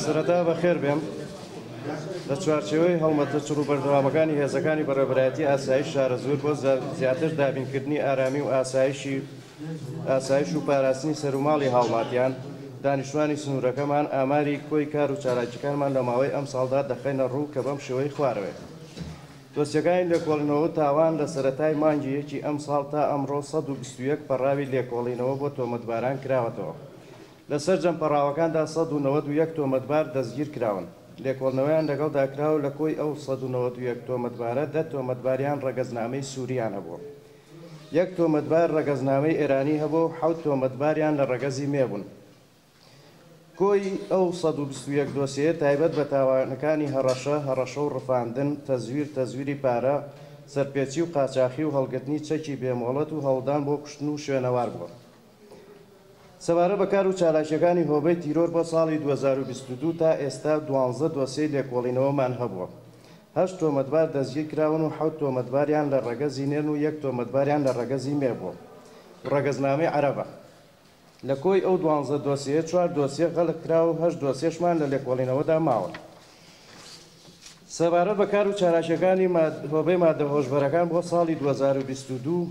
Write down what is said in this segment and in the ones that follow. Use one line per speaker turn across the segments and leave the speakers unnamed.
سەرەتا بەخێر بێن. لە چوارچێوەی هەڵمەتە چڕ و بەردەوامەکانی هێزەکانی بەڕێوەبەرایەتی ئاسایش شارەزوور بۆ زیاتر دابینکردنی ئارامی و ئاسایشی ئاسایش و پاراستنی سەروماڵی هاوڵاتیان، دانیشتوانی سنوورەکەمان، ئاماری کۆی کار و چالاکیەکانمان لە ماوەی ئەمساڵدا دەخەینە ڕوو کە بەم شێوەی خوارەوەیە. دۆسیەکانی لێکۆڵینەوە و تاوان لە سەرەتای مانگی یەکی ئەمساڵ تا ئەمڕۆ 121 پەڕاوی لێکۆڵینەوە بۆ تۆمەتباران کراوەتەوە. لە سەرجەم پەڕاوەکاندا 191 تۆمەتبار دەستگیرکراون، لێکۆڵنەوەیان لەگەڵدا کراوە، لە کۆی ئەو 191 تۆمەتبارە 10 تۆمەتباریان ڕەگەزنامەی سووریان هەبووە، یەک تۆمەتبار ڕەگەزنامەی ئێرانی هەبووە و 7 تۆمەتباریان لە ڕەگەزی مێ بوون. کۆی ئەو 121 دۆسیەیە تایبەت بە تاوانەکانی هەڕەشە، هەڕەشە و ڕفاندن، تەزویر، تەزویری پارە، سەرپێچی و قاچاخی و هەڵگرتنی چەکی بێمۆڵەت و هەوڵدان بۆ کوشتن و شوێنەوار بووە. سەبارەت بە کار و چالاکییەکانی هۆبەی تیرۆر بۆ ساڵی 2022 تا ئێستا 12 دۆسیەی لێکۆڵینەوەمان هەبووە. 8 تۆمەتبار دەستگیرکراون و 7 تۆمەتباریان لە ڕەگەزی نێرن و یەک تۆمەتباریان لە ڕەگەزی مێ بووە و ڕەگەزنامەی عەرەبە. لە کۆی ئەو 12 دۆسیەیە 4 دۆسیە غەلق کراوە و 8 دۆسیەشمان لە لێکۆڵینەوەدا ماون. سەبارەت بە کار و چالاکییەکانی هۆبەی مادە هۆشبەرەکان بۆ ساڵی 2022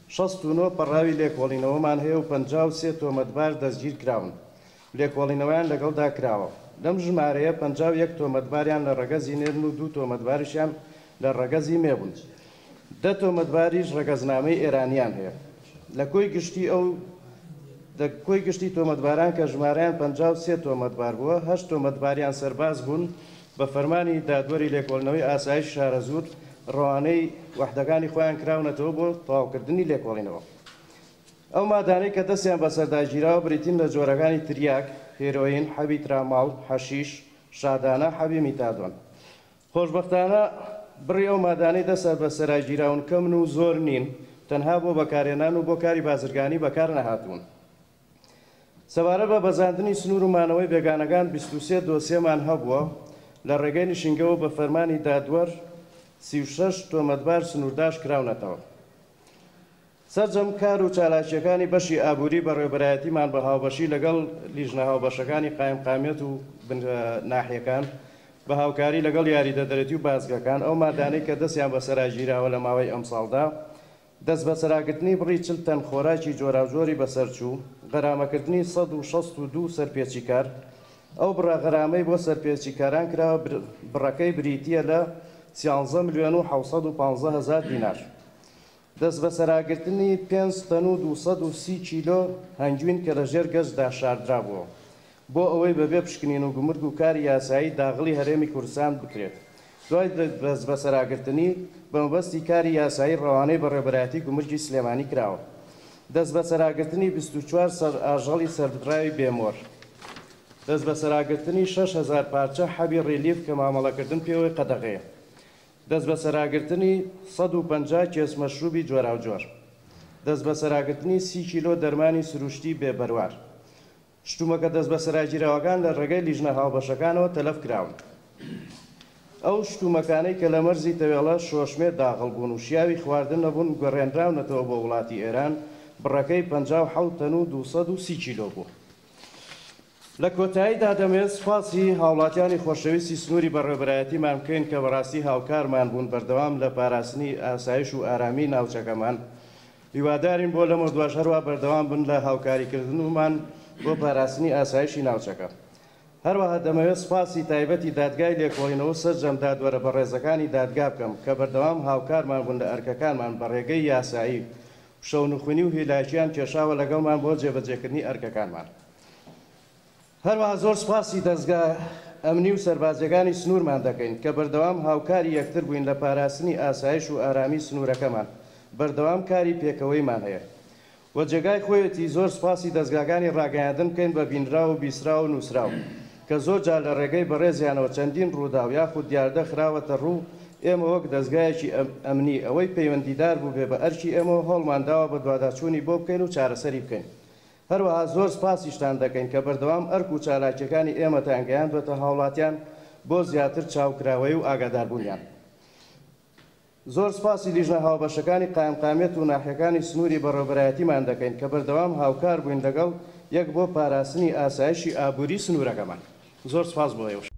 69 پەڕاوی لێکۆڵینەوەمان هەیە و 53 تۆمەتبار دەستگیرکراون، لێکۆڵینەوەیان لەگەڵدا کراوە. لەم ژمارەیە 51 تۆمەتباریان لە ڕەگەزی نێرن و 2 تۆمەتباریشیان لە ڕەگەزی مێ بوون. 10 تۆمەتباریش ڕەگەزنامەی ئێرانیان هەیە. لە کۆی گشتی ئەو لە کۆی گشتی تۆمەتباران کە ژمارەیان 53 تۆمەتبار بووە، 8 تۆمەتباریان سەرباز بوون، بە فەرمانی دادوەری لێکۆڵینەوەی ئاسایش شارەزوور ڕەوانەی وەحدەکانی خۆیان کراونەتەوە بۆ تەواوکردنی لێکۆڵینەوە. ئەو مادانەی کە دەستیان بەسەردا گیراوە بریتین لە جۆرەکانی تریاک، هێرۆین، حەبی تراماڵ، حەشیش، شادانە، حەبی میتادۆن. خۆشبەختانە بڕی ئەو مادانەی دەستیان بەسەرا گیراون کەمن و زۆر نین، تەنها بۆ بەکارهێنان و بۆ کاری بازرگانی بەکار نەهاتوون. سەبارەت بە بەزاندنی سنوور و مانەوەی بێگانەکان 23 دۆسیەمان هەبووە، لە ڕێگەی نشینگەوە بە فەرمانی دادوەر 36 تۆمەتبار سنوورداش کراونەتەوە. سەرجەم کار و چالاکییەکانی بەشی ئابووری بەڕێوەبەرایەتیمان بە هاوبەشی لەگەڵ لیژنە هاوبەشەکانی قایمقامیەت و ناحیەکان بە هاوکاری لەگەڵ یاریدەدەرێتی و بازگەکان ئەو مادانەی کە دەستیان بەسەرا گیراوە لە ماوەی ئەمساڵدا دەستبەسەراگرتنی بڕی 40 تەن خۆراکی جۆراوجۆری بەسەرچوو، غەرامەکردنی 162 سەرپێچیکار، ئەو بڕە غەرامەی بۆ سەرپێچیکاران کراوە بڕەکەی بریتییە لە 13 ملیۆن و 715 هەزار دینار. دەستبەسەراگرتنی 5 تەن و 230 کیلۆ هەنگوین کە لەژێر گەچدا شاردرابووە بۆ ئەوەی بەبێ پشکنین و گومرگ و کاری یاسایی داغڵی هەرێمی کوردستان بکرێت، دوای دەستبەسەراگرتنی بە مەبەستی کاری یاسایی ڕەوانەی بەڕێوەبەرایەتی گومرگی سلێمانی کراوە. دەستبەسەراگرتنی 24 سەر ئاژەڵی سەربدراوی بێمۆر. دەستبەسەراگرتنی 6000 پارچە حەبی ڕیلیف کە مامەڵەکردن پێوەی قەدەغەیە. دەستبەسەراگرتنی 150 کێس مەشروبی جۆراوجۆر. دەستبەسەراگرتنی 30 کیلۆ دەرمانی سروشتی بێبەروار. شتومەکە دەستبەسەراگیراوەکان لە ڕێگەی لیژنە هاوبەشەکانەوە تەلەف کراون. ئەو شتومەکانەی کە لە مەرزی تەوێڵە شۆشمێ داغڵ بوون و شیاوی خواردن نەبوون گەڕێنراونەتەوە بۆ وڵاتی ئێران، بڕەکەی 57 تەن و 230 کیلۆ بوو. لە کۆتاییدا دەمەوێت سوپاسی هاوڵاتیانی خۆشەویستی سنووری بەڕێوەبەرایەتیمان بکەین کە بەڕاستی هاوکارمان بوون بەردەوام لە پاراستنی ئاسایش و ئارامی ناوچەکەمان. هیوادارین بۆ لەمە دواش هەروە بەردەوام بن لە هاوکاریکردنمان بۆ پاراستنی ئاسایشی ناوچەکە. هەروەها دەمەوێت سوپاسی تایبەتی دادگای لێکۆڵینەوە سەرجەم دادوەرە بەڕێزەکانی دادگا بکەم کە بەردەوام هاوکارمان بوون لە ئەرکەکانمان بە ڕێگەی یاسایی و شەونخونی و هیلاکیان کێشاوە لەگەڵمان بۆ جێبەجێکردنی ئەرکەکانمان. هەروەها زۆر سوپاسی دەزگا ئەمنی و سەربازیەکانی سنوورمان دەکەین کە بەردەوام هاوکاری یەکتر بووین لە پاراستنی ئاسایش و ئارامی سنوورەکەمان، بەردەوام کاری پێکەوەیمان هەیە و جێگای خۆیەتی زۆر سوپاسی دەزگاکانی ڕاگەیاندن بکەین بە بینراو و بیسراو و نووسراو کە زۆر جار لە ڕێگەی بەڕێزیانەوە چەندین ڕووداو یاخود دیاردە خراوەتە ڕوو. ئێمە وەک دەزگایەکی ئەمنی ئەوەی پەیوەندیدار بووبێ بە ئەرکی ئێمەوە هەوڵمان داوە بەدواداچوونی بۆ بکەین و چارەسەری بکەین. هەروەها زۆر سوپاسیشتان دەکەین کە بەردەوام ئەرک و چالاکیەکانی ئێمەتان گەیاندوەتە هاوڵاتیان بۆ زیاتر چاوکراوەیی و ئاگاداربوونیان. زۆر سوپاسی لیژنە هاوبەشەکانی قایمقامیەت و ناحیەکانی سنووری بەڕێوەبەرایەتیمان دەکەین کە بەردەوام هاوکار بووین لەگەڵ یەک بۆ پاراستنی ئاسایشی ئابووری سنوورەکەمان. زۆر سپاس بۆ ئێوەش.